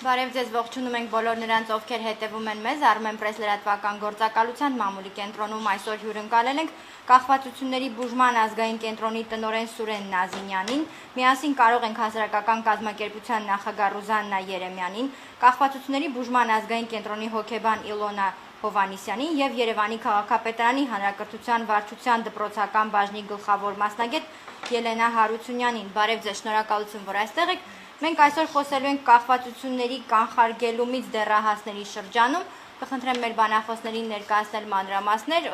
Բարև ձեզ, ողջունում ենք բոլոր նրանց, ովքեր հետևում են մեզ, Armen Press լրատվական գործակալության մամուլի կենտրոնում այսօր հյուրընկալել ենք Կախվածությունների բուժման ազգային կենտրոնի տնօրեն Սուրեն Նազինյանին, միասին կարող ենք հասարակական կազմակերպության նախագահ Ռուզաննա Երեմյանին, Կախվածությունների բուժման ազգային կենտրոնի հոգեբան Իլոնա Հովանիսյանին եւ Երևանի քաղաքապետարանի հանրակրթության վարչության դպրոցական բաժնի գլխավոր մասնագետ Ելենա Հարությունյանին։ Բարև ձեզ, շնորհակալություն, որ այստեղ եք։ Մենք այսօր խոսելու ենք կախվածությունների կանխարգելումից դեռահասների շրջանում։ Կխնդրեմ մեր բանախոսներին ներկայացնել մանրամասներ,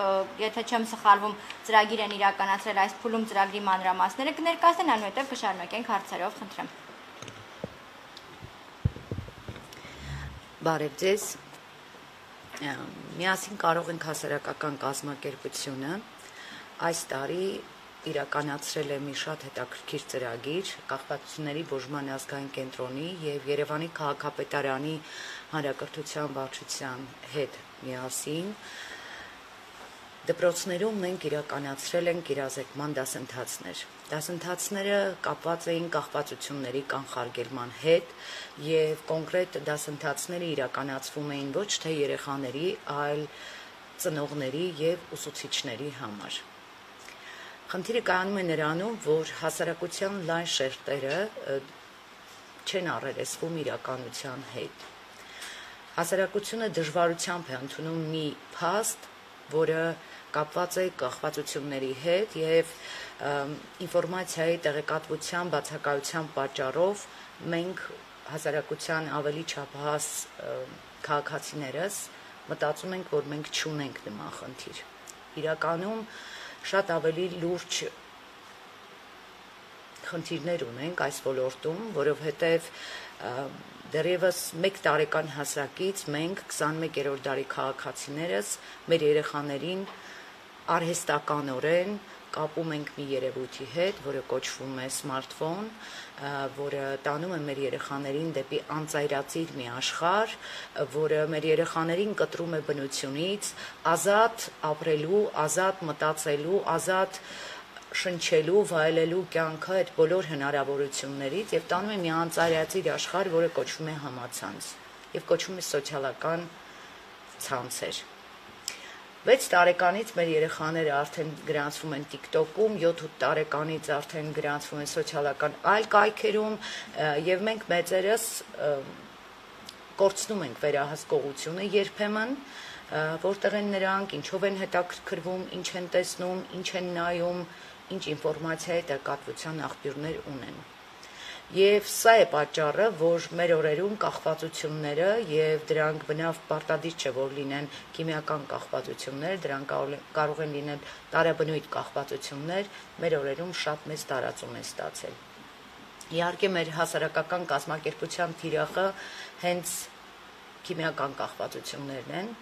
եթե չեմ սխալվում, ծրագիր են իրականացրել այս փուլում, ծրագրի մանրամասները կներկայացնեն, այնուհետև կշարունակենք հարցերով, խնդրեմ։ Բարև ձեզ։ Միասին կարող ենք հասարակական կազմակերպությունը այս տարի իրականացրել է մի շատ հետաքրքիր ծրագիր Կախվածությունների բուժման ազգային կենտրոնի եւ Երևանի քաղաքապետարանի հանրակրթության վարչության հետ միասին դպրոցներում մենք իրականացրել ենք իրազեկման դասընթացներ։ Դասընթացները կապված էին կախվածությունների կանխարգելման հետ եւ կոնկրետ դասընթացները իրականացվում էին ոչ թե երեխաների, այլ ծնողների եւ ուսուցիչների համար։ Խնդիրը կայանում է նրանում, որ հասարակության լայն շերտերը չեն առերեսվում իրականության հետ։ Հասարակությունը դժվարությամբ է ընդունում մի փաստ, որը կապված է կախվածությունների հետ եւ ինֆորմացիայի տեղեկատվության բացակայության պատճառով մենք հասարակության ավելի չափահաս քաղաքացիներս մտածում ենք, որ մենք չունենք նման խնդիր։ Իրականում շատ ավելի լուրջ խնդիրներ ունենք այս ոլորտում, որովհետև դեռևս 1 տարեկան հասակից մենք 21-րդ դարի քաղաքացիներս մեր երեխաներին արհեստականորեն կապում ենք մի երևույթի հետ, որը կոչվում է սմարթֆոն, որը տանում է մեր երեխաներին դեպի անծայրածիր մի աշխարհ, որը մեր երեխաներին կտրում է բնությունից, ազատ ապրելու, ազատ մտածելու, ազատ շնչելու, վայելելու կյանքը այդ բոլոր հնարավորություններից եւ տանում է մի անծայրածիր աշխարհ, որը կոչվում է համացանց եւ կոչվում է սոցիալական ցանցեր։ 6 տարեկանից մեր երեխաները արդեն գրանցվում են TikTok-ում, 7-8 տարեկանից արդեն գրանցվում են սոցիալական այլ կայքերում եւ մենք մեծերս կորցնում ենք վերահսկողությունը երբեմն, որտեղ են նրանք, ինչով են հետաքրքրվում, ինչ են տեսնում, ինչ են նայում, ինչ ինֆորմացիայի տեղեկատվության աղբյուրներ ունեն։ Եվ սա է պատճառը, որ մեր օրերում կախվածությունները եւ դրանք բնավ պարտադիր չէ, որ լինեն քիմիական կախվածություններ, դրանք կարող են լինել տարաբնույթ կախվածություններ, մեր օրերում շատ մեծ տարածում են ստացել։ Իհարկե մեր հասարակական կազմակերպության թիրախը հենց քիմիական կախվածություններն են,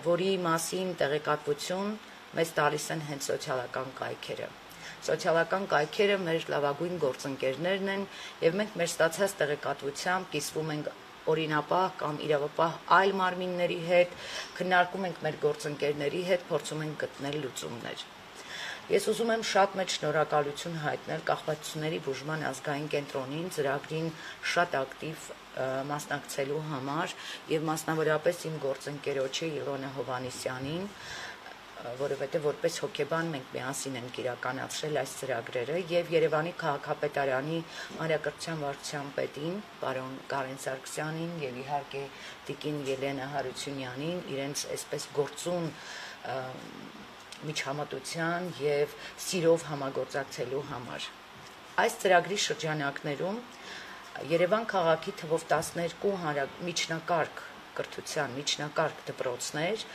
որի մասին տեղեկատվություն մեզ տալիս են հենց սոցիալական կայքերը։ Սոցիալական կայքերը մեր լավագույն գործընկերներն են եւ մենք մեր ստացած տեղեկատվությամբ կիսվում ենք օրինապահ կամ իրավապահ այլ մարմինների հետ, քննարկում ենք մեր գործընկերների հետ, փորձում ենք գտնել լուծումներ։ Ես ուզում եմ շատ մեծ շնորհակալություն հայտնել Կախվածությունների բուժման ազգային կենտրոնին ծրագրին շատ ակտիվ մասնակցելու համար եւ մասնավորապես իմ գործընկերոջը Իլոնա Հովանիսյանին, որովհետև որպես հոգեբան մենք միասին ենք իրականացրել այս ծրագրերը եւ Երևանի քաղաքապետարանի հանրակրթության վարչության պետին, պարոն Կարեն Սարգսյանին եւ իհարկե տիկին Ելենա Հարությունյանին իրենց այսպես գործուն միջամտության եւ սիրով համագործակցելու համար։ Այս ծրագրի շրջանակներում Երևան քաղաքի թվով 12 միջնակարգ կրթության միջնակարգ դպրոցներ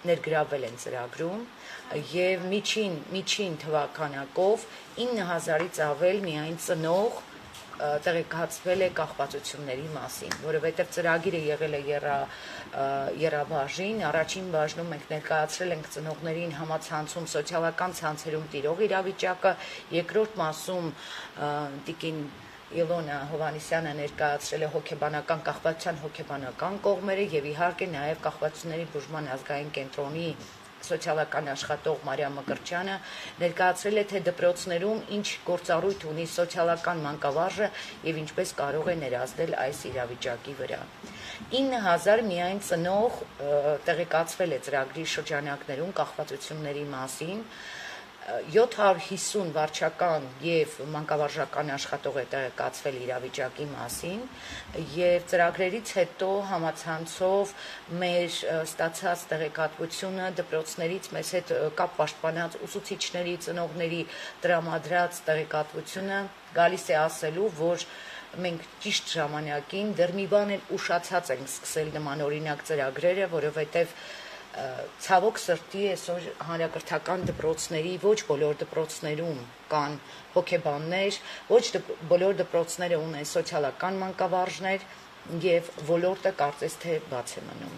ներգրավել են ծրագրում եւ միջին թվականակով 9000-ից ավել միայն ծնող տեղեկացվել է կախվածությունների մասին, որովհետեւ ծրագիրը եղել է եռաբաժին, առաջին բաժնում մենք ներկայացրել ենք ծնողներին համացանցում սոցիալական ցանցերում տիրող իրավիճակը, երկրորդ մասում տիկին Իլոնա Հովանիսյանը ներկայացրել է հոգեբանական կախվածության հոգեբանական կողմերը եւ իհարկե նաեւ կախվածությունների բուժման ազգային կենտրոնի սոցիալական աշխատող Մարիամ Մկրտչյանը ներկայացրել է, թե դպրոցներում ինչ գործառույթ ունի սոցիալական մանկավարժը եւ ինչպես կարող է ներազդել այս իրավիճակի վրա։ 9000 միայն ծնող տեղեկացվել է ծրագրի շրջանակներում կախվածությունների մասին, 750 վարչական եւ մանկավարժական աշխատող է տեղեկացվել իրավիճակի մասին եւ ծրագրերից հետո համացանցով մեր ստացած տեղեկատվությունը դպրոցներից մեզ հետ կապ պաշտպանած ուսուցիչների, ծնողների տրամադրած տեղեկատվությունը գալիս է ասելու, որ մենք ճիշտ ժամանակին դեռ մի բան էլ ուշացած ենք սկսել նմանօրինակ ծրագրերը, որովհետեւ ցավոք սրտի այսօր հանրակրթական դպրոցների ոչ բոլոր դպրոցներում կան հոգեբաններ, ոչ բոլոր դպրոցները ունեն սոցիալական մանկավարժներ եւ ոլորտը կարծես թե բաց է մնում։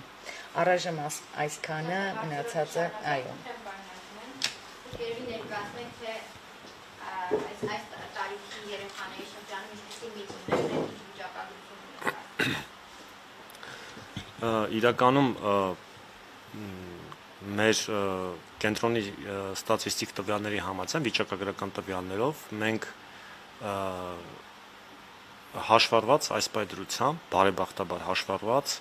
Առայժմ այսքանը, մնացածը այո։ Երևի ներկայացնենք, թե այս տարիքի երեխաների շրջանում ինչպիսի միտումներ են վիճակագրություն։ Իրականում մեր կենտրոնի ստատիստիկ տվյալների համաձայն վիճակագրական տվյալներով մենք հաշվառված այս պայծրությամբ բարեբախտաբար հաշվառված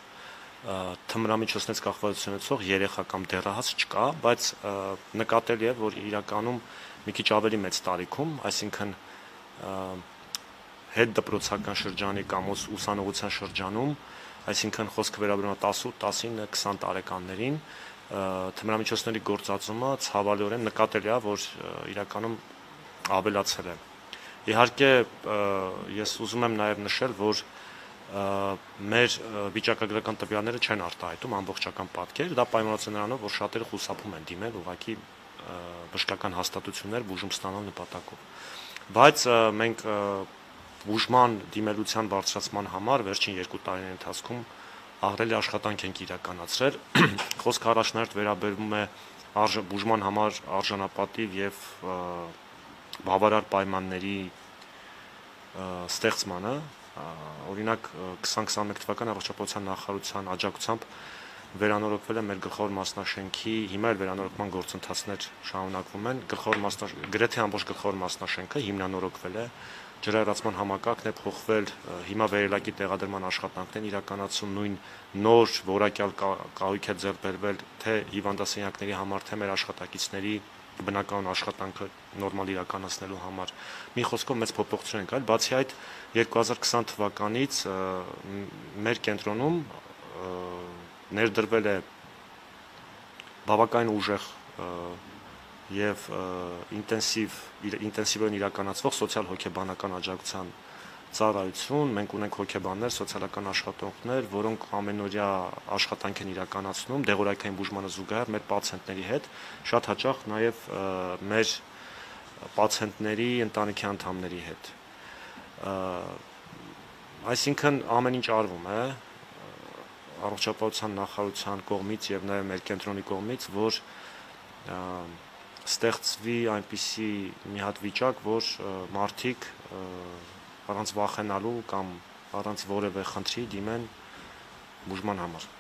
թմրամիջոցներից կախվածություն ունեցող երեխա կամ դեռահաս չկա, բայց նկատելի է, որ իրականում մի քիչ ավելի մեծ տարիքում, այսինքն հետ դպրոցական շրջանի կամ ուսանողության շրջանում, այսինքն խոսքը վերաբերում է 18, 19, 20 տարեկաններին թմրամիջոցների գործածումը ցավալիորեն նկատելի է, որ իրականում ավելացել է։ Իհարկե, ես ուզում եմ նաև նշել, որ մեր վիճակագրական տվյալները չեն արտահայտում ամբողջական պատկեր, դա պայմանավորված է նրանով, որ շատերը խուսափում են դիմել ուղղակի բժշկական հաստատություններ բուժում ստանալ նպատակով։ Բայց մենք բուժման դիմելության բարձրացման համար վերջին 2 տարիների ընթացքում ահռելի աշխատանք ենք իրականացրել։ Խոսքը առաջնահերթ վերաբերվում է բուժման համար արժանապատիվ եւ բավարար պայմանների ստեղծմանը, օրինակ 2021 թվականի առողջապահության նախարարության աջակցությամբ վերանորոգվել է մեր գլխավոր մասնաշենքի, հիմա էլ վերանորոգման գործընթացներ շարունակվում են, գրեթե ամբողջ գլխավոր մասնաշենքը հիմնանորոգվել է, ջրահեռացման համակարգն է փոխվել, հիմա վերելակի տեղադրման աշխատանքն են իրականացում, նույն նոր որակյալ կահույք է ձեռք բերվել թե հիվանդասենյակների համար, թե մեր աշխատակիցների բնականon աշխատանքը նորմալ իրականացնելու համար։ Մի խոսքով մեծ փոփոխություն ենք այլ, բացի այդ 2020 թվականից մեր կենտրոնում ներդրվել է բավականին ուժեղ եւ ինտենսիվորեն իրականացվող սոցիալ-հոգեբանական աջակցության ծառայություն, մենք ունենք հոգեբաններ, սոցիալական աշխատողներ, որոնք ամենօրյա աշխատանք են իրականացնում դեղորայքային բուժմանը զուգահեռ մեր պացիենտների հետ, շատ հաճախ նաեւ մեր պացիենտների ընտանիքի անդամների հետ։ Այսինքն ամեն ինչ արվում է առողջապահության նախարարության կողմից եւ նաեւ մեր կենտրոնի կողմից, որ ստեղծվի այնպիսի մի հատ վիճակ, որ մարդիկ առանց վախենալու կամ առանց որևէ խնդրի դիմեն բուժման համար։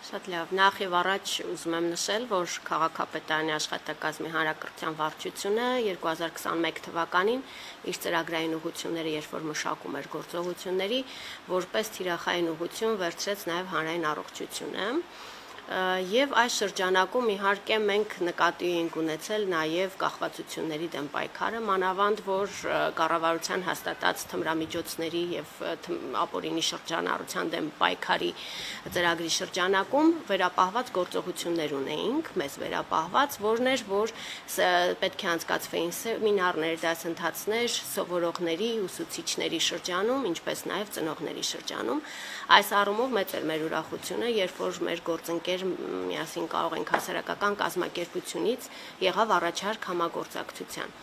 Շատ լավ, նախ եւ առաջ ուզում եմ նշել, որ քաղաքապետարանի աշխատակազմի հանրակրթության վարչությունը 2021 թվականին իր ծրագրային ուղղությունները երբ որ մշակում էր գործողությունների, որպես թիրախային ուղղություն վերցրեց նաեւ հանրային առողջությունը։ Եվ այս շրջանակում իհարկե մենք նկատի ենք ունեցել նաև կախվածությունների դեմ պայքարը, մանավանդ որ կառավարության հաստատած թմրամիջոցների եւ ապօրինի շրջանառության դեմ պայքարի ծրագրի շրջանակում վերապահված գործողություններ ունեինք, մեզ վերապահված, որն էր, որ պետք է անցկացվեին սեմինարներ, դասընթացներ սովորողների, ուսուցիչների շրջանում, ինչպես նաև ծնողների շրջանում։ Այս առումով մեծ էր մեր ուրախությունը, երբ որ մեր գործընկեր միասին կարող ենք հասարակական կազմակերպությունից եղավ առաջարկ համագործակցության։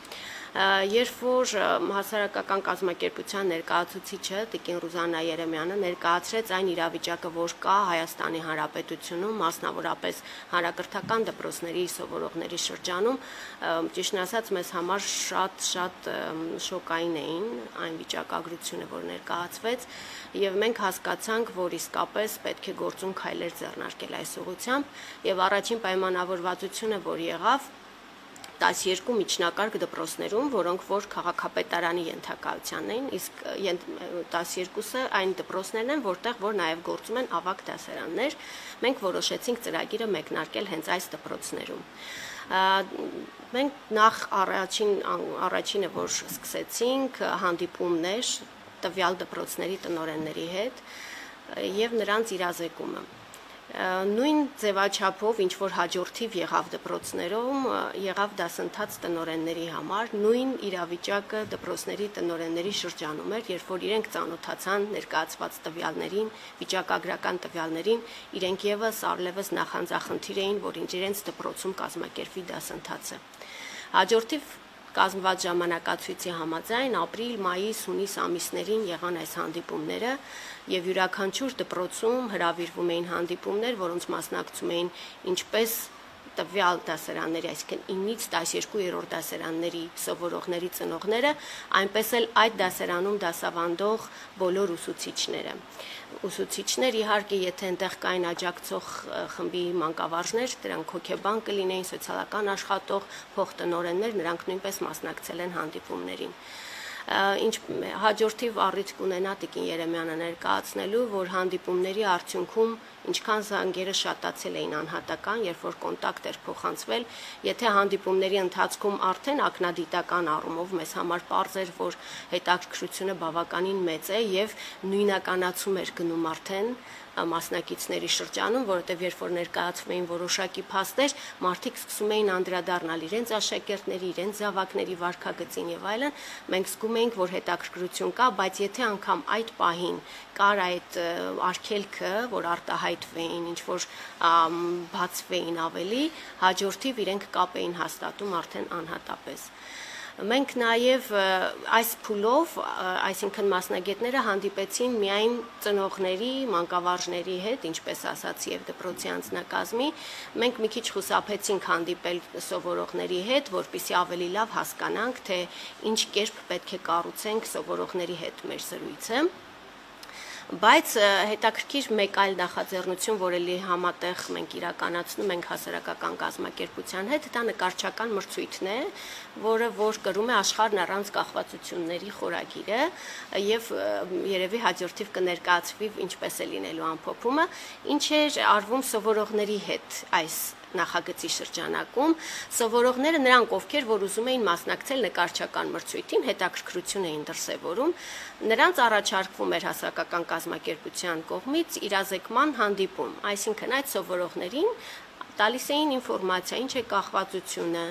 Երբ որ հասարակական կազմակերպության ներկայացուցիչը Տիկին Ռուզաննա Երեմյանը ներկայացրեց այն իրավիճակը, որ կա Հայաստանի Հանրապետությունում, մասնավորապես հանրակրթական դպրոցների սովորողների շրջանում, ճիշտն ասած, մեզ համար շատ շոկային էին այն վիճակագրությունը, որ ներկայացվեց, եւ մենք հասկացանք, որ իսկապես պետք է գործուն քայլեր ձեռնարկել այս ուղղությամբ, եւ առաջին պայմանավորվածությունը, որ եղավ 12 միջնակարգ դպրոցներում, որոնք որ քաղաքապետարանի ենթակայությանն էին, իսկ 12-ը այն դպրոցներն են, որտեղ որ նաև գործում են ավագ դասարաններ, մենք որոշեցինք ծրագիրը մեկնարկել հենց այս դպրոցներում։ Մենք նախ առաջինը, որ սկսեցինք, հանդիպումներ տվյալ դպրոցների տնօրենների հետ եւ նրանց իրազեկումը։ Նույն ձևաչափով ինչ որ հաջորդիվ եղավ դպրոցներում, եղավ դասընթաց տնօրենների համար, նույն իրավիճակը դպրոցների տնօրենների շրջանում էր, երբ որ իրենք ծանոթացան ներկայացված տվյալներին, վիճակագրական տվյալներին, իրենք եւս առլևս նախանձախնդիր էին, որ իրենց դպրոցում կազմակերպվի դասընթացը։ Հաջորդիվ կազմված ժամանակացույցի համաձայն ապրիլ, մայիս, հունիս ամիսներին եղան այս հանդիպումները եւ յուրաքանչյուր դպրոցում հրավիրվում էին հանդիպումներ, որոնց մասնակցում էին ինչպես տվյալ դասարանների, այսինքն 9-ից 12-րդ դասարանների սովորողների ծնողները, այնպես էլ այդ դասարանում դասավանդող բոլոր ուսուցիչները։ Ուսուցիչներ իհարկե, եթե այնտեղ կային աջակցող խմբի մանկավարժներ, դրանք հոգեբան կլինեին, սոցիալական աշխատող, փոխտնօրեններ, նրանք նույնպես մասնակցել են հանդիպումներին։ Ինչ հաջորդիվ առիթ կունենա Տիկին Երեմյանը ներկայացնելու, որ հանդիպումների արդյունքում ինչքան զանգերը շատացել էին անհատական, երբ որ կոնտակտ էր փոխանցվել, եթե հանդիպումների ընթացքում արդեն ակնադիտական առումով մեզ համար պարզ էր, որ հետաքրքրությունը բավականին մեծ է եւ նույնականացում էր գնում արդեն մասնակիցների շրջանում, որովհետև երբ որ ներկայացվում էին որոշակի փաստեր, մարդիկ սկսում էին անդրադառնալ իրենց աշակերտների, իրենց զավակների վարքագծին եւ այլն, մենք զգում էինք, որ հետաքրքրություն կա, բայց եթե անգամ այդ պահին կար այդ արգելքը, որ արտահայտվեին, ինչ որ բացվեին ավելի, հաջորդիվ իրենք կապ էին հաստատում արդեն անհատապես։ Մենք նաև այս փուլով, այսինքն մասնագետները հանդիպեցին միայն ծնողների, մանկավարժների հետ, ինչպես ասացի, եւ դպրոցի անձնակազմի, մենք մի քիչ խուսափեցինք հանդիպել սովորողների հետ, որպեսզի ավելի լավ հասկանանք, թե ինչ կերպ պետք է կառուցենք սովորողների հետ մեր զրույցը։ Բայց հետաքրքիր մեկ այլ նախաձեռնություն, որ էլի համատեղ մենք իրականացնում ենք հասարակական կազմակերպության հետ, դա նկարչական մրցույթն է, որը որ կրում է աշխարհն առանց կախվածությունների խորագիրը եւ երևի հաջորդիվ կներկայացվի ինչպես է լինելու ամփոփումը, ինչ էր արվում սովորողների հետ այս նախագծի շրջանակում, սովորողները նրանք, ովքեր որ ուզում էին մասնակցել նկարչական մրցույթին, հետաքրքրություն էին դրսևորում, նրանց առաջարկվում էր հասարակական կազմակերպության կողմից իրազեկման հանդիպում, այսինքն այդ սովորողներին տալիս էին ինֆորմացիա, ինչ է կախվածությունը,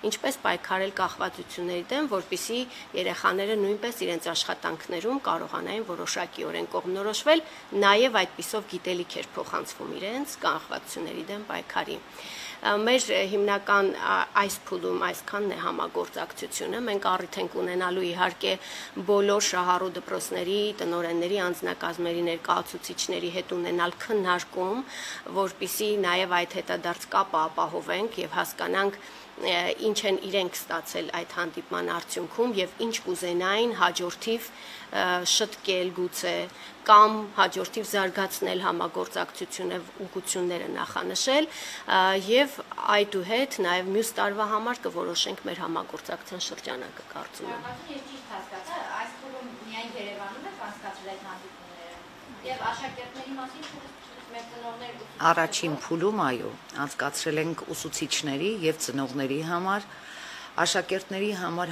ինչպես պայքարել կախվածությունների դեմ, որպեսզի երեխաները նույնպես իրենց աշխատանքներում կարողանային որոշակիորեն կողմնորոշվել, նաև այդպիսով գիտելիք էր փոխանցվում իրենց կախվածությունների դեմ պայքարի։ Մեր հիմնական այս փուլում այսքանն է համագործակցությունը, մենք առիթ ենք ունենալու իհարկե բոլոր շահառու դպրոցների, տնօրենների, անձնակազմերի ներկայացուցիչների հետ ունենալ քննարկում, որպեսզի նաև այդ հետադարձ կապը ապահովենք եւ հասկանանք ինչ են իրենք ստացել այդ հանդիպման արդյունքում եւ ինչ կուզենային հաջորդիվ շտկել գուցե կամ հաջորդիվ զարգացնել համագործակցությունը ուղղությունները նախանշել եւ այդուհետ նաեւ մյուս տարվա համար կորոշենք մեր համագործակցության շրջանակը կարծում եմ։ Ես ճիշտ հասկացա, այս փուլում միայն Երևանում եք անցկացրել այդ հանդիպումները եւ աշակերտների մասին Առաջին փուլում, այո, անցկացրել ենք ուսուցիչների եւ ծնողների համար, աշակերտների համար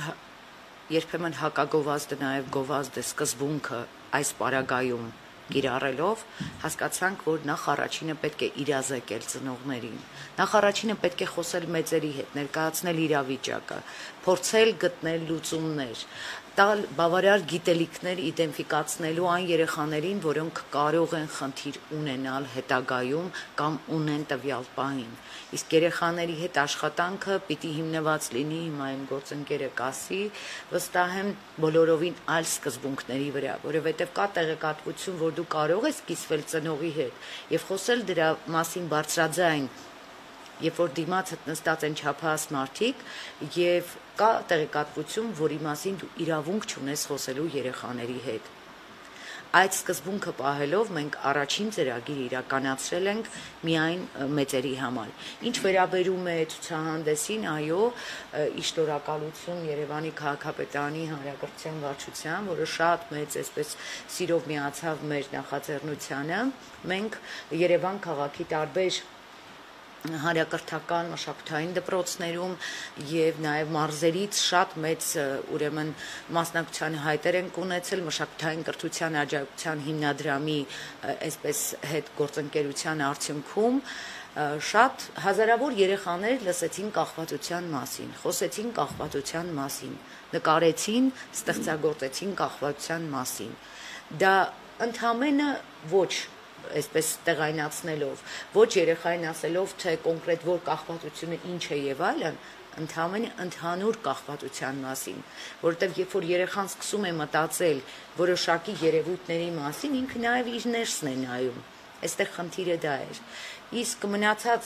երբեմն հակագովազդը նաեւ գովազդ է սկզբունքը այս պարագայում կիրառելով, հասկացանք, որ նախ առաջինը պետք է իրազեկել ծնողներին, նախ առաջինը պետք է խոսել մեծերի հետ, ներկայացնել իրավիճակը, փորձել գտնել լուծումներ, տալ բավարար գիտելիքներ իդենտիֆիկացնելու այն երեխաներին, որոնք կարող են խնդիր ունենալ հետագայում կամ ունեն տվյալ պահին։ Իսկ երեխաների հետ աշխատանքը պիտի հիմնված լինի, հիմա իմ գործընկերը կասի, վստահ եմ բոլորովին այլ սկզբունքների վրա, որովհետև կա տեղեկատվություն, որ դու կարող ես կիսվել ծնողի հետ եւ խոսել դրա մասին բարձրաձայն, երբ որ դիմացդ նստած են չափահաս մարդիկ եւ կա տեղեկատվություն, որի մասին դու իրավունք չունես խոսելու երեխաների հետ։ Այդ սկզբունքը պահելով մենք առաջին ծրագիր իրականացրել ենք միայն մեծերի համար։ Ինչ վերաբերում է ցուցահանդեսին, այո, շնորհակալություն Երևանի քաղաքապետարանի հանրակրթության վարչության, որը շատ մեծ այսպես սիրով միացավ մեր նախաձեռնությանը։ Մենք Երևան քաղաքի տարբեր հանրակրթական մշակութային դպրոցներում եւ նաեւ մարզերից շատ մեծ ուրեմն մասնակցության հայտեր են ունեցել մշակութային կրթության աջակցության հիմնադրամի այսպես հետ գործընկերության արդյունքում շատ հազարավոր երեխաներ լսեցին կախվածության մասին, խոսեցին կախվածության մասին, նկարեցին, ստեղծագործեցին կախվածության մասին։ Դա ընդհանրապես ոչ այսպես տեղայնացնելով, ոչ երեխային ասելով, թե կոնկրետ որ կախվածությունը ինչ է եւ այլն, ընդհանուր կախվածության մասին, որովհետեւ երբ որ երեխան սկսում է մտածել որոշակի երևույթների մասին, ինքը նաեւ իր ներսն է նայում։ Այստեղ խնդիրը դա էր։ Իսկ մնացած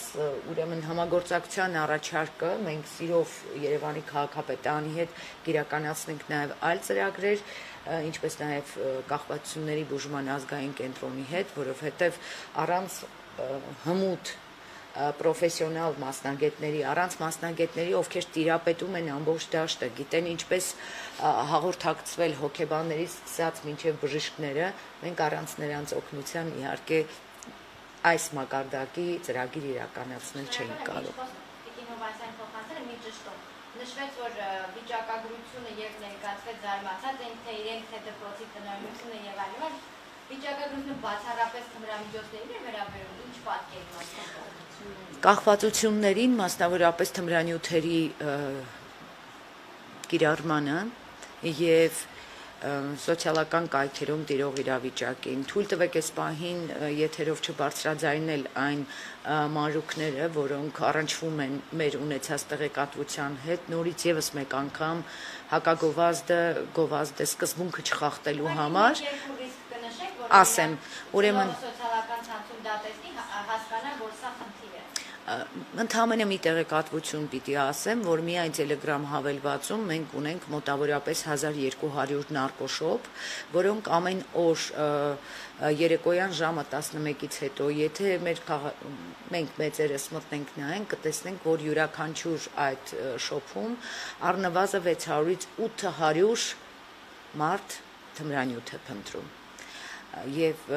ուրեմն համագործակցության առաջարկը մենք սիրով Երևանի քաղաքապետարանի հետ կիրականացնենք նաեւ այլ ծրագրեր, ինչպես նաև կախվածությունների բուժման ազգային կենտրոնի հետ, որովհետև առանց հմուտ պրոֆեսիոնալ մասնագետների, առանց մասնագետների, ովքեր տիրապետում են ամբողջ դաշտը, գիտեն ինչպես հաղորդակցվել հոգեբաններից սկսած մինչև բժիշկները, մենք առանց նրանց օգնության իհարկե այս մակարդակի ծրագիր իրականացնել չէինք կարող։ Նշվեց, որ վիճակագրությունը եւ ներկայացվեց զարմացած են, թե իրենք թե դպրոցի տնօրինությունը եւ այլն, վիճակագրությունը բացառապես թմրամիջոցներին է վերաբերում, ինչ պատկերում է։ Կախվածություններին, մասնավորապես թմրանյութերի կիրառմանը եւ սոցիալական կայքերում տիրող իրավիճակին։ Թույլ տվեք այս պահին եթերով չբարձրաձայնել այն մանրուքները, որոնք առնչվում են մեր ունեցած տեղեկատվության հետ, նորից եւս մեկ անգամ հակագովազդը սկզբունքը չխախտելու համար ասեմ, ուրեմն սոցիալական ցանցում դա տեսնի, հասկանա, որ սա խնդիր է։ Ընդհանրապես մի տեղեկատվություն պիտի ասեմ, որ միայն Telegram հավելվածում մենք ունենք մոտավորապես 1200 նարկոշոպ, որոնք ամեն օր երեկոյան ժամը 11-ից հետո, եթե մենք մեծերս մտնենք նայենք, կտեսնենք, որ յուրաքանչյուր այդ շոփում առնվազն 600-ից 800 մարդ թմրանյութ է փնտրում։ Եվ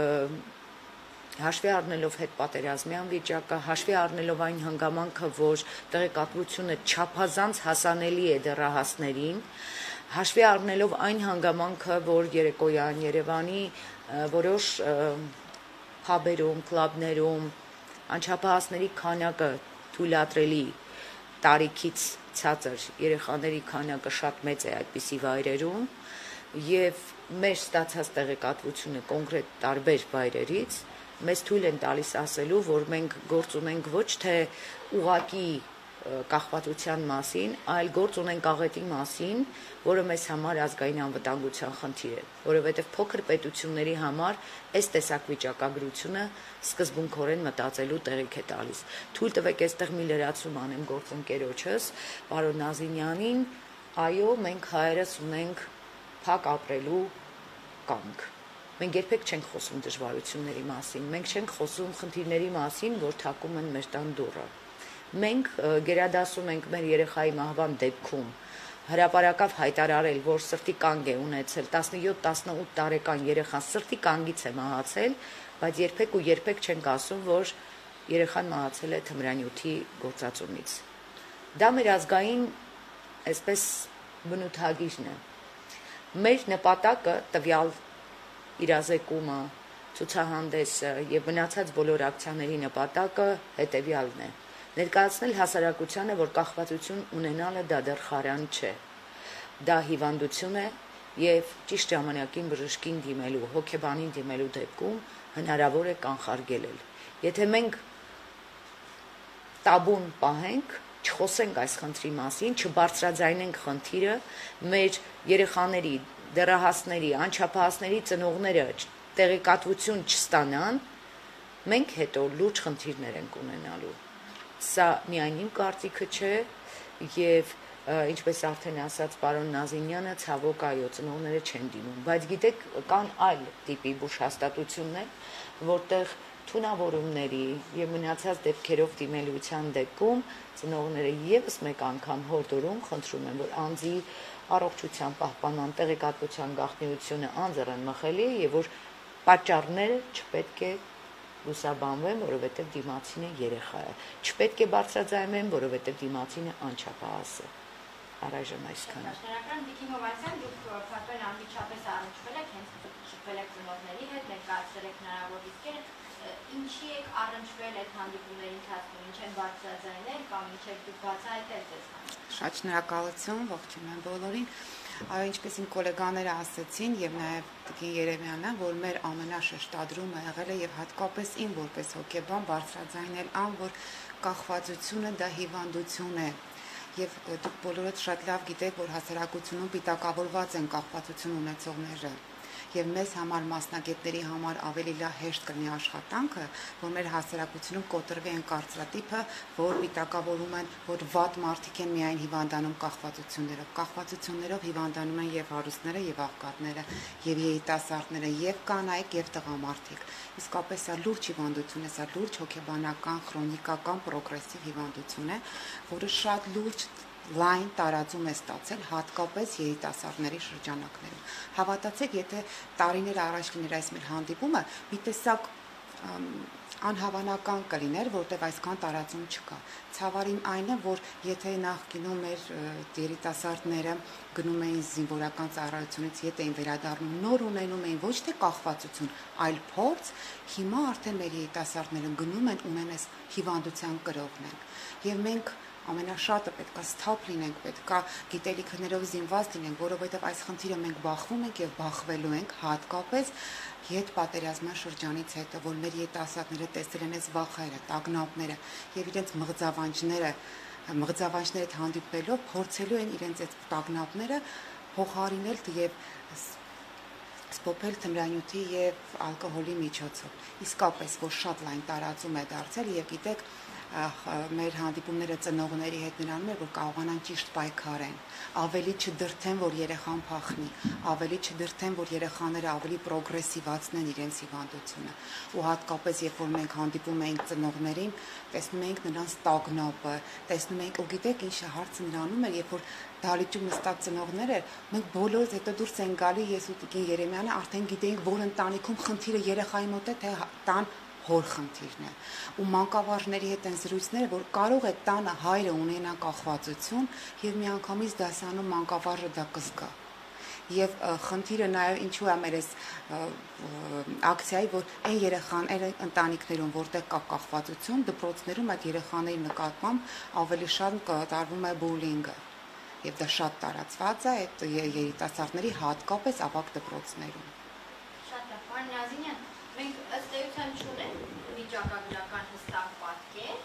հաշվի առնելով հետպատերազմյան վիճակը, հաշվի առնելով այն հանգամանքը, որ տեղեկատվությունը չափազանց հասանելի է դեռահասներին, հաշվի առնելով այն հանգամանքը, որ երեկոյան Երևանի որոշ փաբերում, կլաբներում անչափահասների քանակը թույլատրելի տարիքից ցածր երեխաների քանակը շատ մեծ է այդպիսի վայրերում եւ մեր ստացած տեղեկատվությունը կոնկրետ տարբեր վայրերից մեզ թույլ են տալիս ասելու, որ մենք գործ ունենք ոչ թե ուղակի կախվածության մասին, այլ գործ ունենք աղետի մասին, որը մեզ համար ազգային անվտանգության խնդիր է, որովհետև փոքր պետությունների համար այս տեսակ վիճակագրությունը սկզբունքորեն մտածելու տեղիք է տալիս։ Թույլ տվեք այստեղ մի լրացում անեմ գործընկերոջս, պարոն Նազինյանին, այո, մենք հայերս ունենք փակ ապրելու կամք։ Մենք երբեք չենք խոսում դժվարությունների մասին, մենք չենք խոսում խնդիրների մասին, որ թակում են մեր տան դուռը։ Մենք գերադասում ենք մեր երեխայի մահվան դեպքում հրապարակավ հայտարարել, որ սրտի կանգ է ունեցել 17-18 տարեկան երեխան սրտի կանգից է մահացել, բայց երբեք ու երբեք չենք ասում, որ երեխան մահացել է թմրանյութի գործածումից։ Դա մեր ազգային այսպես բնութագիրն է։ Մեր նպատակը տվյալ իրազեկումը, ցուցահանդեսը եւ մնացած բոլոր ակցիաների նպատակը հետեւյալն է. ներկայացնել հասարակությանը, որ կախվածություն ունենալը դա դեռ խարան չէ։ Դա հիվանդություն է եւ ճիշտ ժամանակին բժշկին դիմելու, հոգեբանին դիմելու դեպքում հնարավոր է կանխարգելել։ Եթե մենք տաբուն պահենք, չխոսենք այս խնդրի մասին, չբարձրաձայնենք խնդիրը, մեր երեխաների, դեռահասների, անչափահասների ծնողները տեղեկատվություն չստանան, մենք հետո լուրջ խնդիրներ ենք ունենալու։ Սա միայն իմ կարծիքը չէ, եւ ինչպես արդեն ասաց պարոն Նազինյանը, ցավոք այո, ծնողները չեն դիմում, բայց գիտեք, կան այլ տիպի բուժհաստատություններ, որտեղ թունավորումների եւ մնացած դեպքերով դիմելիության դեպքում ծնողները եւս մեկ անգամ հորդորում խնդրում են, որ անձի առողջության պահպանման տեղեկատվության գաղտնիությունը անձեռն մխելի է եւ որ պատճառները չպետք է լուսաբանվեն, որովհետեւ դիմացինը երեխա է, չպետք է բարձրաձայնվեն, որովհետեւ դիմացինը անչափահաս է։ Առայժմ այսքանը։ Շնորհակալ Վիկի Հովանեսյան, դուք փաստորեն անմիջապես առնչվել եք, հենց շփվել եք ծնողների հետ, ներկայացրել եք հնարավոր ռիսկերը, ինչի եք առնչվել այդ հանդիպումների ընթացքում, ինչ են բարձրաձայնել կամ ինչ եք դուք բացահայտել ձեզ համար։ Շատ շնորհակալություն, ողջունում բոլորին։ Այո, ինչպես իմ գոլեգաները ասացին եւ նաեւ Տիկին Երեմյանը, որ մեր ամենաշեշտադրումը եղել է եւ հատկապես իմ որպես հոգեբան բարձրաձայնել ան, որ կախվածությունը դա հիվանդություն է։ Եվ դուք բոլորդ շատ լավ գիտեք, որ հասարակությունում պիտակավորված են կախվածություն ունեցողները։ Եվ մեզ համար մասնագետների համար ավելի լավ հեշտ կլինի աշխատանքը, որ մեր հասարակությունում կոտրվի այն կարծրատիպը, որ պիտակավորում են, որ վատ մարդիկ են միայն հիվանդանում կախվածություններով։ Կախվածություններով հիվանդանում են եւ հարուստները, եւ աղքատները, եւ երիտասարդները, եւ կանայք, եւ տղամարդիկ։ Իսկապես սա լուրջ հիվանդություն է, սա լուրջ հոգեբանական, քրոնիկական, պրոգրեսիվ հիվանդություն է, որը շատ լուրջ լայն տարածում է ստացել հատկապես երիտասարդների շրջանակներում։ Հավատացեք, եթե տարիներ առաջ լիներ այս մեր հանդիպումը, մի տեսակ անհավանական կլիներ, որտեղ այսքան տարածում չկա։ Ցավարին այն է, որ եթե նախկինում մեր երիտասարդները գնում էին զինվորական ծառայությունից, ետ էին վերադառնում, նոր ունենում էին ոչ թե կախվածություն, այլ փորձ, հիմա արդեն մեր երիտասարդները գնում են ունեն այս հիվանդության կրողն են։ Եվ մենք ամենաշատը պետքա սթափ լինենք, պետքա գիտելիքներով զինված լինենք, որովհետև այս խնդիրը մենք բախվում ենք եւ բախվելու ենք հատկապես հետպատերազմյան շրջանից հետո, որ մեր երիտասարդները տեսել են այս վախերը, տագնապները եւ իրենց մղձավանջները հետ հանդիպելով փորձելու են իրենց այդ տագնապները փոխարինել եւ սփոփել թմրանյութի եւ ալկոհոլի միջոցով։ Իսկապես, որ շատ լայն տարածում է դարձել եւ գիտեք մեր հանդիպումները ծնողների հետ նրանում է, որ կարողանան ճիշտ պայքարեն, ավելի չդրթեն, որ երեխան փախնի, ավելի չդրթեն, որ երեխաները ավելի պրոգրեսիվացնեն իրենց հիվանդությունը։ Ու հատկապես, երբ որ մենք հանդիպում ենք ծնողներին, տեսնում ենք նրանց տագնապը, տեսնում ենք, ու գիտեք ինչ է հարցը նրանում է, երբ որ դալիճում նստած ծնողներ էր, մենք բոլորս հետո դուրս են գալի, ես ու Տիկին Երեմյանը արդեն գիտեինք, որ ընտանիքում խնդիրը երեխայի մոտ է, թե տան հոր խնդիրն է։ Ու մանկավարժների հետ են զրույցները, որ կարող է տանը հայրը ունենա կախվածություն եւ միանգամից դասանում մանկավարժը դա կզգա։ Եվ խնդիրը նաեւ ինչու է մեր այս ակցիայի, որ այն երեխան, այն ընտանիքներում, որտեղ կա կախվածություն, դպրոցներում այդ երեխաների նկատմամբ ավելի շատ կատարվում է բուլինգը։ Եվ դա շատ տարածված է այդ երիտասարդների հատկապես ավագ դպրոցներում։ Շատ լավ, պարոն Նազինյան, մենք ըստ էության չունենք վիճակագրական հստակ պատկեր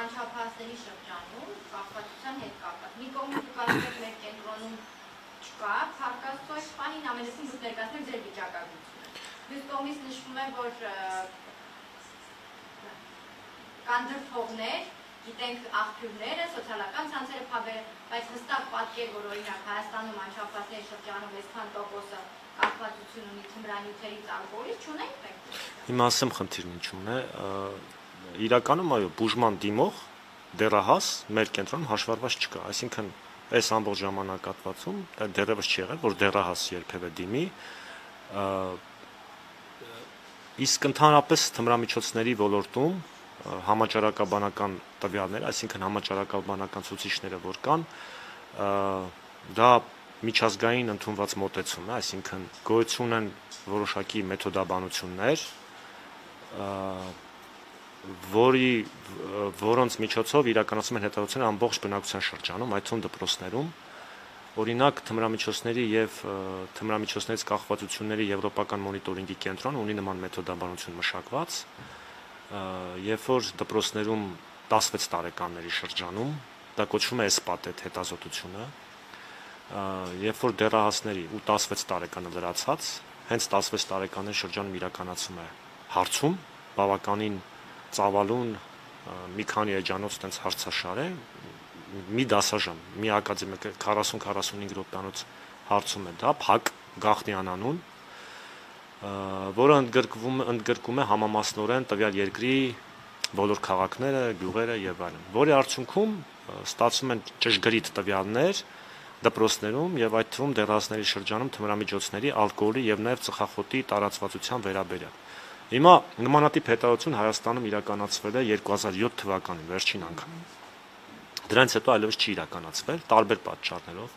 անչափահասների շրջանում կախվածության հետ կապված։ Մի կողմից դուք ասում եք մեր կենտրոնում չկա, փառքաստու այս պահին ամենեսին դուք ներկայացնում եք ձեր վիճակագրությունը։ Մյուս կողմից նշվում է, որ կան դրդողներ, գիտենք աղբյուրները, սոցիալական ցանցերը փաբերը, բայց հստակ պատկեր, որ օրինակ Հայաստանում անչափահասների շրջանում այսքան տոկոսը կախվածություն ունի թմրանյութերից ալկոհոլից չունենք մենք։ Հիմա ասեմ խնդիրն ինչու՞մն է։ Իրականում այո, բուժման դիմող դեռահաս մեր կենտրոնում հաշվառված չկա, այսինքն այս ամբողջ ժամանակահատվածում դեռևս չի եղել, որ դեռահաս երբևէ դիմի, իսկ ընդհանրապես թմրամիջոցների ոլորտում համաճարակաբանական տվյալներ, այսինքն համաճարակաբանական ցուցիչները, որ կան, դա միջազգային ընդունված մոտեցում է, այսինքն գոյություն են որոշակի մեթոդաբանություններ, որոնց միջոցով իրականացում են հետազոտություններ ամբողջ բնակության շրջանում, այդ թվում դպրոցներում, Օրինակ թմրամիջոցների եւ թմրամիջոցներից կախվածությունների եվրոպական մոնիտորինգի կենտրոնը ունի նման մեթոդաբանություն մշակված, երբ որ դպրոցներում 16 տարեկանների շրջանում դա կոչվում է ESPAT հետազոտությունը, երբ որ դեռահասների ու 16 տարեկանը լրացած հենց 16 տարեկանների շրջանում իրականացում է հարցում, բավականին ծավալուն մի քանի էջանոց տենց հարցաշար է, մի դասաժամ, մի ակադեմիկ 40-45 րոպեանոց հարցում է դա, փակ գաղտնի անանուն, որը ընդգրկում է համամասնորեն տվյալ երկրի բոլոր քաղաքները, գյուղերը եւ այլն, որի արդյունքում ստացվում են ճշգրիտ տվյալներ դպրոցներում եւ այդ թվում դեռահասների շրջանում թմրամիջոցների, ալկոհոլի եւ նաեւ ծխախոտի տարածվածության վերաբերյալ։ Հիմա նմանատիպ հետազոտություն Հայաստանում իրականացվել է 2007 թվականին վերջին անգամ։ Դրանից հետո այլևս չի իրականացվել տարբեր պատճառներով,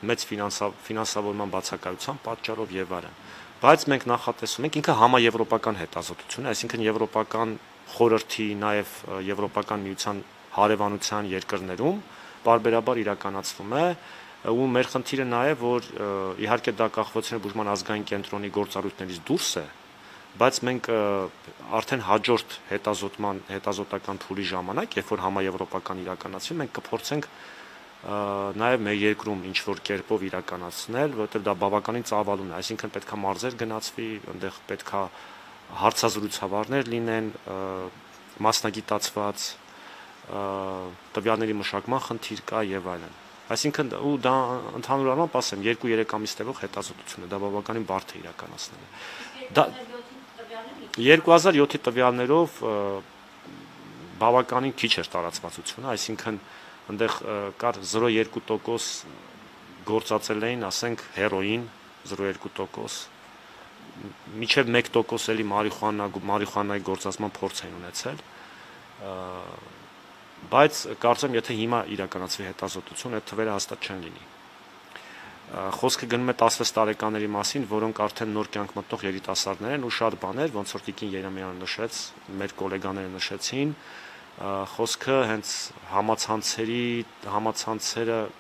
մեծ ֆինանսավորման բացակայության պատճառով եւ այլն։ Բայց մենք նախատեսում ենք ինքը համաեվրոպական հետազոտություն է, այսինքն եվրոպական խորհրդի, նաեւ եվրոպական միության հարևանության երկրներում բարբերաբար իրականացվում է ու մեր խնդիրը նա է, որ իհարկե դա կախվածության բուժման ազգային կենտրոնի գործառույթներից դուրս է, բայց մենք արդեն հաջորդ հետազոտական փուլի ժամանակ, երբ որ համաեվրոպական իրականացվի, մենք կփորձենք նաև մեր երկրում ինչ որ կերպով իրականացնել, որովհետև դա բավականին ծավալուն է, այսինքն պետքա մարզեր գնացվի, այնտեղ պետքա հարցազրույցավարներ լինեն, մասնագիտացված տվյալների մշակման խնդիր կա եւ այլն։ Այսինքն ու դա ընդհանուր առմամբ ասեմ 2-3 ամիս տևող հետազոտություն է, դա բավականին բարդ է իրականացնել։ Դա 2007-ի տվյալներով բավականին քիչ էր տարածվածությունը, այսինքն այնտեղ կար 0.2% գործածել էին, ասենք հերոին 0.2%, մինչև 1% էլի մարիխուանայի գործածման փորձ էին ունեցել, բայց կարծեմ եթե հիմա իրականացվի հետազոտություն, այդ թվերը հաստատ չեն լինի։ Խոսքը գնում է 16 տարեկաների մասին, որոնք արդեն նոր կյանք մտնող երիտասարդներ են ու շատ բաներ, ոնց որ Տիկին Երեմյանը նշեց, մեր գոլեգաները նշեցին, խոսքը հենց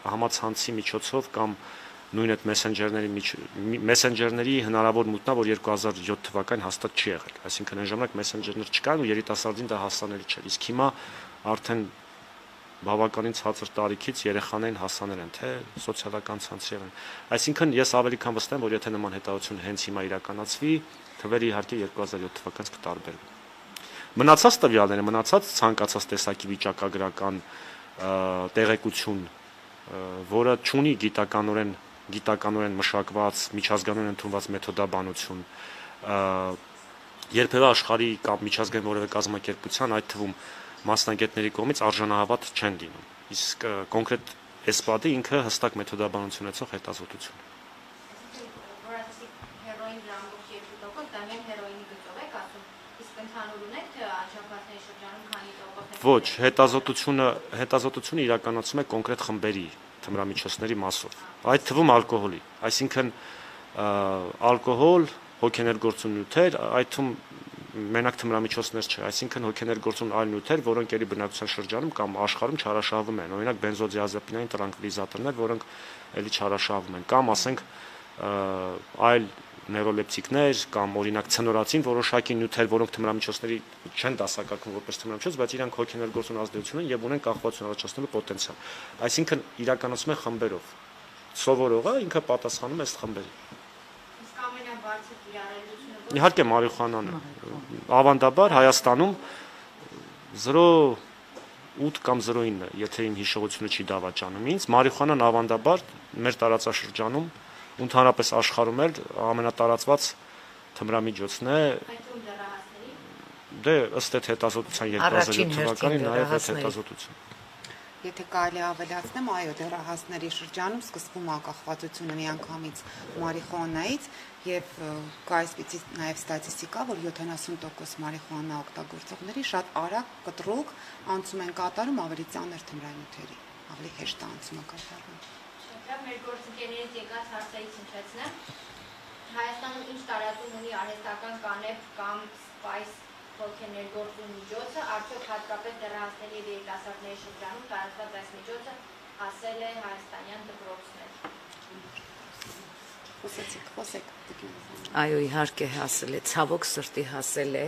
համացանցի միջոցով կամ նույն այդ մեսենջերների հնարավոր մուտնա, որ 2007 թվականին հաստատ չի եղել, այսինքն այն ժամանակ մեսենջերներ չկան ու երիտասարդին դա հասանելի չէր, իսկ հիմա արդեն բավականին ցածր տարիքից երեխաներին հասանել են, թե սոցիալական ցանցի են։ Այսինքն ես ավելի քան վստահ եմ, որ եթե նման հետազոտություն հենց հիմա իրականացվի, թվերը իհարկե 2007 թվականից կտարբերվեն։ Մնացած տվյալները, մնացած ցանկացած տեսակի վիճակագրական տեղեկություն, որը չունի գիտականորեն մշակված, միջազգային ընդունված մեթոդաբանություն, երբևէ աշխարհի կամ միջազգային որևէ կազմակերպության, այդ թվում մասնագետների կողմից արժանահավատ չեն լինում։ Իսկ կոնկրետ ESPAT-ը ինքը հստակ մեթոդաբանություն ունեցող հետազոտություն է։ Հերոին լամբոց 2%, դա միայն հերոինի գծով եք ասում, իսկ ընդհանուր ունեք թե անչափահասների շրջանում քանի տոկոս։ Ոչ, հետազոտությունը իրականացում է կոնկրետ խմբերի թմրամիջոցների մասով, այդ թվում ալկոհոլի, այսինքն ալկոհոլ, հոգեներգործուն նյութեր, այդ թվում մենակ թմրամիջոցներ չէ, այսինքն հոգեներգործուն այլ նյութեր, որոնք ելի բնակության շրջանում կամ աշխարհում չարաշահվում են, օրինակ բենզոդիազեպինային տրանկվիլիզատորներ, որոնք ելի չարաշահվում են, կամ ասենք այլ նեյրոլեպտիկներ կամ օրինակ ցնորացին որոշակի նյութեր, որոնք թմրամիջոցների չեն դասակարգվում որպես թմրամիջոց, բայց իրանք հոգեներգործուն ազդեցություն են եւ ունեն կախվածություն առաջացնելու պոտենցիալ։ Այսինքն իրականացում են խմբերով։ Սովորողը ինքը պատասխանում է ըստ խմբերի։ Իսկ ամենաբարձր կիրառելիությունը Իհարկե մարիխուանան է։ Ավանդաբար Հայաստանում 0.8 կամ 0.9, եթե իմ հիշողությունը չի դավաճանում ինձ, մարիխուանան ավանդաբար մեր տարածաշրջանում ընդհանրապես աշխարհում էլ ամենատարածված թմրամիջոցն է։ այդում դեռահասների։ Դե ըստ այդ հետազոտության 2007 թվականի նաև այդ հետազոտություն։ Եթե կարելի ավելացնեմ, այո, դեռահասների շրջանում սկսվում է ակախվածությունը միանգամից մարիխուանայից եւ կա այսպիսի նաեւ ստատիստիկա, որ 70% մարիխուանա օգտագործողների շատ արագ կտրուկ անցում են կատարում ավելի ծանր թմրանյութերի, ավելի հեշտ անցումը կատարվում։ Շնորհակալ մեր գործընկերներից եկած հարցերից հնչեցնեմ։ Հայաստանում ինչ տարածում ունի արհեստական կանեփ կամ սպայս հոգեներգործուն միջոցը, արդյոք հատկապես դեռահասների եւ երիտասարդների շրջանում տարածված այս միջոցը հասել է հայաստանյան դպրոցներ։ Խոսեք։ Այո, իհարկե հասել է, ցավոք սրտի հասել է,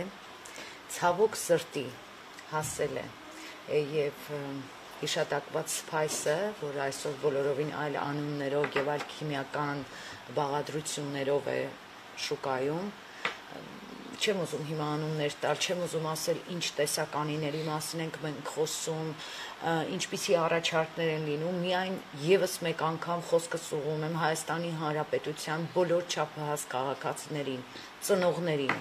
ցավոք սրտի հասել է եւ հիշատակված սփայսը, որ այսօր բոլորովին այլ անուններով եւ այլ քիմիական բաղադրություններով է շուկայում, չեմ ուզում հիմա անուններ տալ, չեմ ուզում ասել ինչ տեսականիների մասին ենք մենք խոսում, ինչպիսի առաջարկներ են լինում, միայն եւս մեկ անգամ խոսքս ուղղում եմ Հայաստանի Հանրապետության բոլոր չափահաս քաղաքացիներին, ծնողներին,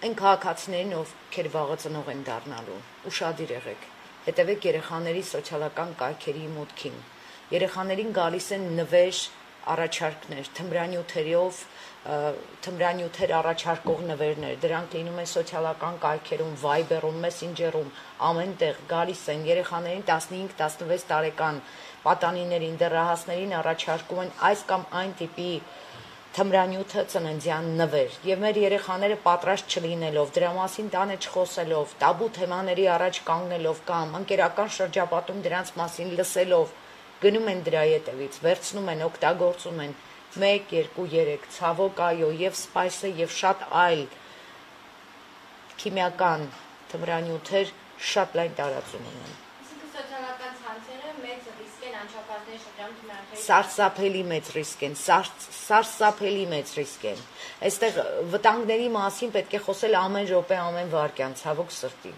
այն քաղաքացիներին, ովքեր վաղը ծնող են դառնալու, ուշադիր եղեք, հետևեք երեխաների սոցիալական կայքերի մուտքին, երեխաներին գալիս են նվեր առաջարկներ, թմրանյութեր առաջարկող նվերներ, դրանք լինում են սոցիալական կայքերում, Viber-ում, Messenger-ում, ամենտեղ գալիս են երեխաներին 15-16 տարեկան պատանիներին, դեռահասներին առաջարկում են այս կամ այն տիպի թմրանյութը ծննդյան նվեր, եւ մեր երեխաները պատրաստ չլինելով, դրա մասին տանը չխոսելով, տաբու թեմաների առաջ կանգնելով կամ ընկերական շրջապատում դրանց մասին լսելով գնում են դրա ետևից, վերցնում են, օգտագործում են 1, 2, 3, ցավոք այո, եւ սպայսը եւ շատ այլ քիմիական թմրանյութեր շատ լայն տարածում ունեն։ Այսինքն սոցիալական ցանցերը մեծ ռիսկ են անչափահասների շրջանում թմրանյութերի Սարսափելի մեծ ռիսկ են, սարսափելի մեծ ռիսկ են։ Այստեղ վտանգների մասին պետք է խոսել ամեն րոպե, ամեն վայրկյան, ցավոք սրտի։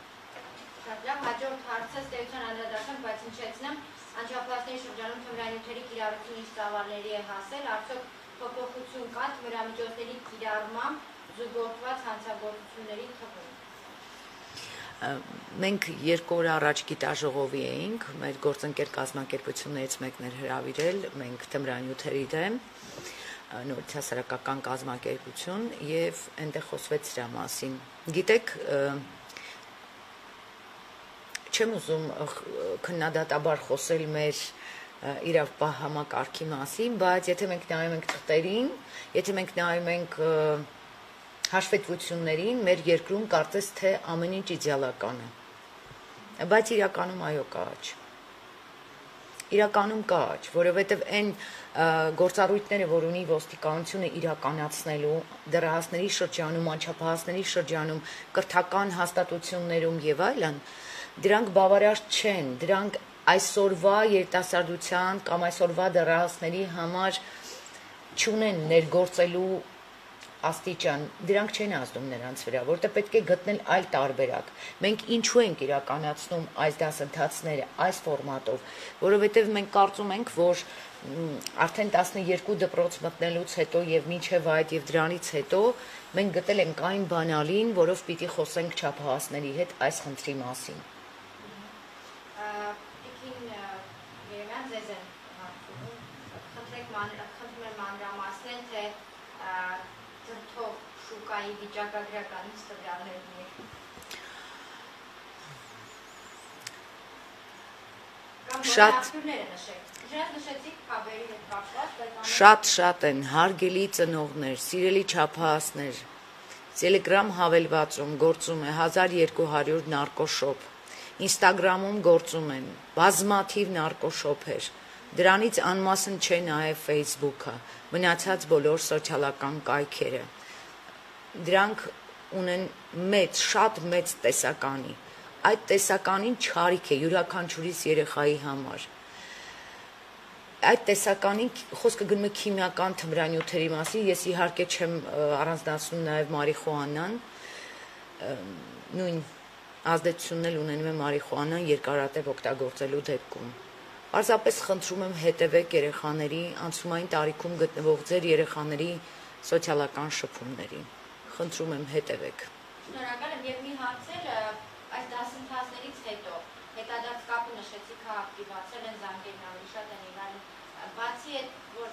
Շատ լավ, հաջորդ հարցը ստեղծան անդրադառնանք, բայց հնչեցնեմ անչափահասների շրջանում թմրանյութերի կիրառություն ինչ ծավալների է հասել, արդյոք փոփոխություն կա թմրամիջոցների կիրառմամբ զուգորդված հանցագործությունների թվում։ Մենք 2 օր առաջ գիտաժողովի էինք, մեր գործընկեր կազմակերպություններից մեկն էր հրավիրել, մենք թմրանյութերի դեմ, նորից հասարակական կազմակերպություն եւ այնտեղ խոսվեց դրա մասին։ Գիտեք, չեմ ուզում քննադատաբար խոսել մեր իրավապահ համակարգի մասին, բայց եթե մենք նայում ենք թղթերին, եթե մենք նայում ենք հաշվետվություններին, մեր երկրում կարծես թե ամեն ինչ իդեալական է, բայց իրականում այո կա աճ, իրականում կա աճ, որովհետև այն գործառույթները, որ ունի ոստիկանությունը իրականացնելու դեռահասների շրջանում, անչափահասների շրջանում, կրթական հաստատություններում եւ այլն, դրանք բավարար չեն, դրանք այսօրվա երիտասարդության կամ այսօրվա դեռահասների համար չունեն ներգործելու աստիճան, դրանք չեն ազդում նրանց վրա, որտեղ պետք է գտնել այլ տարբերակ։ Մենք ինչու ենք իրականացնում այս դասընթացները այս ֆորմատով, որովհետև մենք կարծում ենք, որ արդեն 12 դպրոց մտնելուց հետո եւ մինչեւ այդ եւ դրանից հետո մենք գտել ենք այն բանալին, որով պիտի խոսենք չափահասների հետ այս խնդրի մասին։ Տիկին Երևան ձեզ են հարցում, խնդրում եմ մանրամասնել, թե ծրթող շուկայի վիճակագրականից տվյալներ ունեք։ Կամ աղբյուրները նշեք։ Ինչպես նշեցիք քաբերի հետ կապված, բայց Շատ են հարգելի ծնողներ, սիրելի չափահասներ։ Telegram հավելվածում գործում է 1200 նարկոշոփ։ Instagram-ում գործում են բազմաթիվ նարկոշոփեր։ Դրանից անմասն չէ նաև Facebook-ը, մնացած բոլոր սոցիալական կայքերը։ Դրանք ունեն շատ մեծ տեսականի։ Այդ տեսականին չարիք է յուրաքանչյուրիս երեխայի համար։ Այդ տեսականին խոսքը գնում է քիմիական թմրանյութերի մասին, ես իհարկե չեմ առանձնացնում նաև մարիխուանան, նույն ազդեցությունն էլ ունենում է մարիխուանան երկարատև օգտագործելու դեպքում։ Պարզապես խնդրում եմ հետևեք երեխաների անցումային տարիքում գտնվող ձեր երեխաների սոցիալական շփումներին։ Խնդրում եմ հետևեք։ Շնորհակալ եմ եւ մի հարց էլ այս դասընթացներից հետո հետադարձ կապը նշեցիք ակտիվացել են զանգերն ավելի շատ են եղել, բացի այդ որ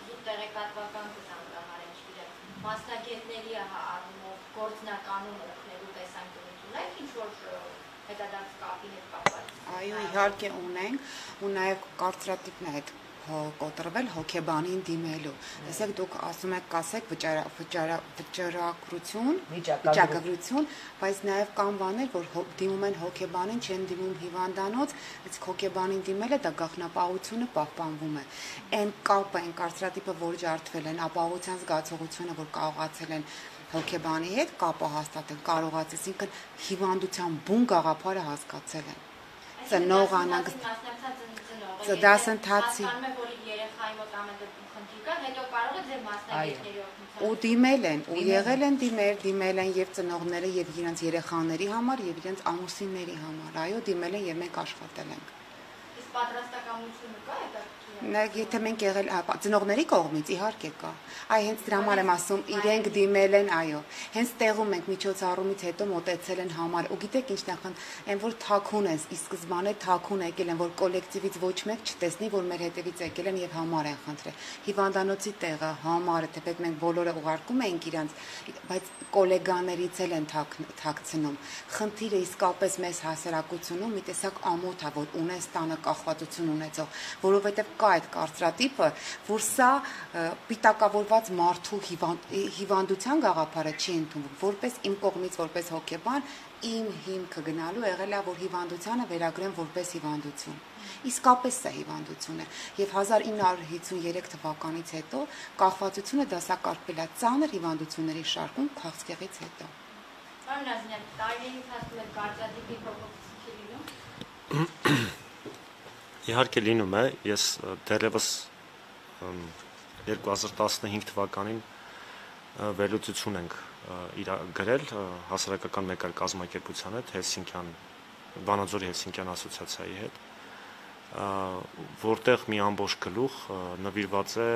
զուտ տեղեկատվական կզանգահարեն, չգիտեմ, մասնագետների առումով գործնականում օգնելու տեսանկյունից ունեք ինչ որ հետադարձ կապի հետ կապված։ Այո, իհարկե ունենք, ու նաև կարծրատիպն է այդ կոտրվել հոգեբանին դիմելու։ Տեսեք, դուք ասում եք, կասեք վճռակրություն, վիճակագրություն, բայց նաև կան բաներ, որ դիմում են հոգեբանին, չեն դիմում հիվանդանոց, իսկ հոգեբանին դիմելը դա գաղտնապահությունը պահպանվում է։ Այն կապը, այն կարծրատիպը, որ ջարդվել են, ապահովության զգացողությունը, որ կարողացել են հոգեբանի հետ կապը հաստատել, կարողացել, այսինքն հիվանդության բուն գաղափարը հասկացել են։ Ծնողանակ դասընթացի երեխայի մոտ ամեն դեպքում խնդիր կա, հետո կարող է ձեր մասնագետների օգնությամբ ու դիմել են, ու եղել են դիմել են եւ ծնողները եւ իրենց երեխաների համար եւ իրենց ամուսինների համար։ Այո, դիմել են եւ մենք աշխատել ենք։ Իսկ պատրաստակամությունը կա այդ Եթե մենք եղել ծնողների կողմից իհարկե կա։ Այ հենց դրա համար եմ ասում, իրենք դիմել են, այո։ Հենց տեղում ենք միջոցառումից հետո մոտեցել են համար։ Ու գիտեք ինչն է, այն որ թաքուն են, ի սկզբանե թաքուն եկել են, որ կոլեկտիվից ոչ մեկ չտեսնի, որ մեր հետևից եկել են եւ համար են խնդրել։ Հիվանդանոցի տեղը, համարը, թեպետ մենք բոլորը ուղարկում էինք իրանց, բայց կոլեգաներից էլ են թաքցնում։ Խնդիրը իսկապես մեզ հասարակությունում մի տեսակ ամոթ է, որ ունես տանը կախվածություն ունեցող, որովհետեւ կա այդ կարծրատիպը, որ սա պիտակավորված մարդու հիվանդության գաղափարը չի ընդունվում, որպես իմ կողմից, որպես հոգեբան, իմ հիմքը գնալու եղել է, որ հիվանդությանը վերագրեմ որպես հիվանդություն։ Իսկապես սա հիվանդություն է, եւ 1953 թվականից հետո կախվածությունը դասակարգվել է ծանր հիվանդությունների շարքում քաղցկեղից հետո։ Պարոն Նազիմյան, տարիների ընթացքում այդ կարծրատիպի փոփոխություն չի լինում։ Իհարկե լինում է, ես դեռևս 2015 թվականին վերլուծություն ենք գրել հասարակական մեկ այլ կազմակերպության հետ, Վանաձորի Հելսինկյան ասոցիացիայի հետ, որտեղ մի ամբողջ գլուխ նվիրված է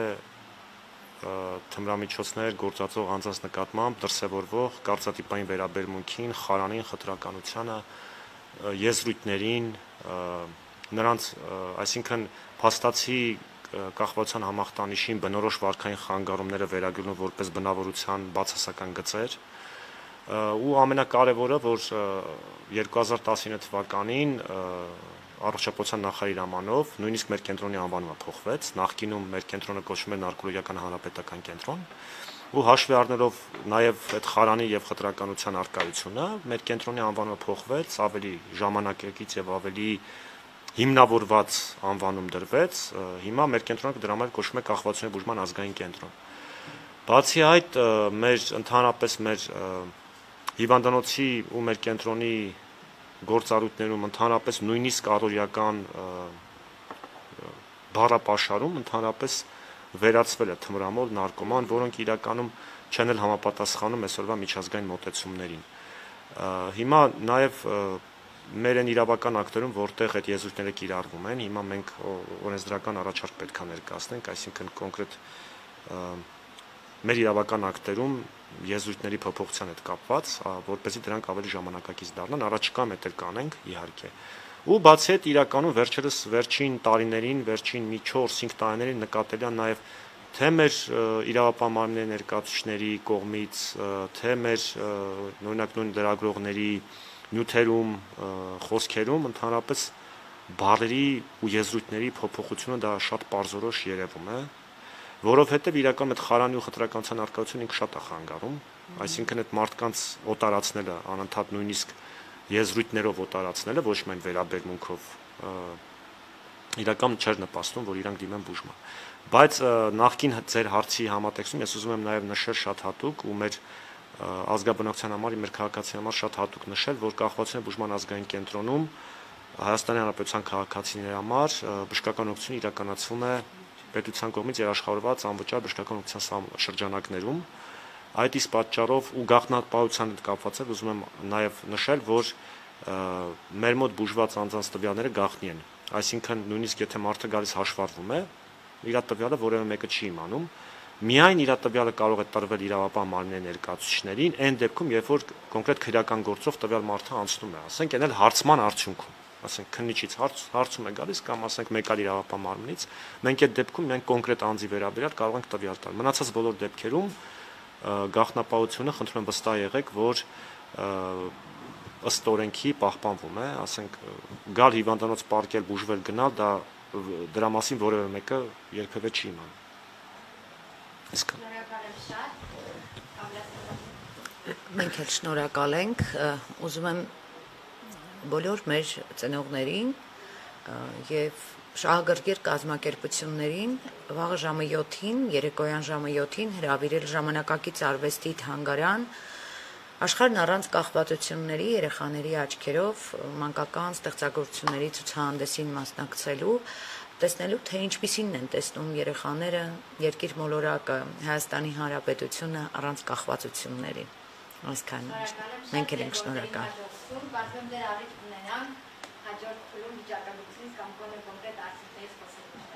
թմրամիջոցներ գործածող անձանց նկատմամբ դրսևորվող կարծրատիպային վերաբերմունքին, խարանին, խտրականությանը, եզրույթներին, նրանց, այսինքն փաստացի կախվածության համախտանիշին բնորոշ վարքային խանգարումները վերագրում որպես բնավորության բացասական գծեր, ու ամենակարևորը, որ 2019 թվականին առողջապահության նախարարի հրամանով նույնիսկ մեր կենտրոնի անվանումը փոխվեց, նախկինում մեր կենտրոնը կոչվում էր Նարկոլոգիական հանրապետական կենտրոն, ու հաշվի առնելով նաև այդ խարանի եւ խտրականության արկայությունը, մեր կենտրոնի անվանումը փոխվեց, ավելի ժամանակակից եւ ավելի հիմնավորված անվանում դրվեց, հիմա մեր կենտրոնը դրա համար կոչվում է Կախվածության բուժման ազգային կենտրոն։ Բացի այդ, ընդհանրապես մեր հիվանդանոցի ու մեր կենտրոնի գործառույթներում ընդհանրապես նույնիսկ առօրյական բառապաշարում ընդհանրապես վերացվել է թմրամոլ, նարկոման, որոնք իրականում չեն էլ համապատասխանում այսօրվա միջազգային մոտեցումներին։ Հիմա նաև մեր են իրավական ակտերում, որտեղ այդ եզրույթները կիրառվում են, հիմա մենք օրենսդրական առաջարկ պետք է ներկայացնենք, այսինքն կոնկրետ մեր իրավական ակտերում եզրույթների փոփոխության հետ կապված, որպեսզի դրանք ավելի ժամանակակից դառնան, առաջիկայում էլ կանենք, իհարկե։ Ու բացի այդ իրականում վերջերս վերջին տարիներին, վերջին մի 4-5 տարիներին նկատելի է նաև թե մեր իրավապահ մարմինների ներկայացուցիչների կողմից, թե մեր օրինակ նույն լրագրողների նյութերում, խոսքերում ընդհանրապես բառերի ու եզրույթների փոփոխությունը դա շատ պարզորոշ երևում է, որովհետև իրականում այդ խարանի ու խտրականության արկայությունը ինքը շատ է խանգարում, այսինքն այդ մարդկանց օտարացնելը, անընդհատ նույնիսկ եզրույթներով օտարացնելը, ոչ միայն վերաբերմունքով, իրականում չէր նպաստում, որ իրանք դիմեն բուժման։ Բայց նախկին ձեր հարցի համատեքստում ես ուզում եմ նաև նշել շատ հատուկ ու մեր ազգաբնակության համար, մեր քաղաքացիների համար շատ հատուկ նշել, որ Կախվածության բուժման ազգային կենտրոնում Հայաստանի Հանրապետության քաղաքացիների համար բժշկական օգնություն իրականացվում է պետության կողմից երաշխավորված անվճար բժշկական օգնության շրջանակներում։ Այդ իսկ պատճառով ու գաղտնապահության հետ կապված է, ուզում եմ նաև նշել, որ մեր մոտ բուժված անձանց տվյալները գաղտնի են։ Այսինքն նույնիսկ եթե մարդը գալիս հաշվառվում է, իր տվյալը որևէ մեկը չի իմանում, միայն իր տվյալը կարող է տրվել իրավապահ մարմինների ներկայացուցիչներին, այն դեպքում, երբ որ կոնկրետ քրեական գործով տվյալ մարդը անցնում է, ասենք, այն էլ հարցման արդյունքում, ասենք քննիչից հարցում է գալիս կամ ասենք մեկ այլ իրավապահ մարմնից, մենք այդ դեպքում միայն կոնկրետ անձի վերաբերյալ կարող ենք տվյալ տալ։ Մնացած բոլոր դեպքերում գաղտնապահությունը խնդրում եմ վստահ եղեք, որ ըստ օրենքի պահպանվում է, ասենք գալ հիվանդանոց պարկել, բուժվել, գնալ, դա դրա մասին որևէ մեկը երբևէ չի իմանում։ Շնորհակալ եմ շատ։ Մենք էլ շնորհակալ ենք, ուզում եմ բոլոր մեր ծնողներին եւ շահագրգիռ կազմակերպություններին վաղը ժամը 7-ին, երեկոյան ժամը 7-ին հրավիրել ժամանակակից արվեստի թանգարան աշխարհն առանց կախվածությունների երեխաների աչքերով մանկական ստեղծագործությունների ցուցահանդեսին մասնակցելու, տեսնելու թե ինչպիսին են տեսնում երեխաները երկիր մոլորակը, Հայաստանի Հանրապետությունը առանց կախվածությունների։ Այսքան մենք էլ ենք շնորհակալ։ Կարծում դեր առիթ ունենանք հաջորդ փուլում վիճակագրությունից կամ կոնկրետ արդյունքներից խոսելու։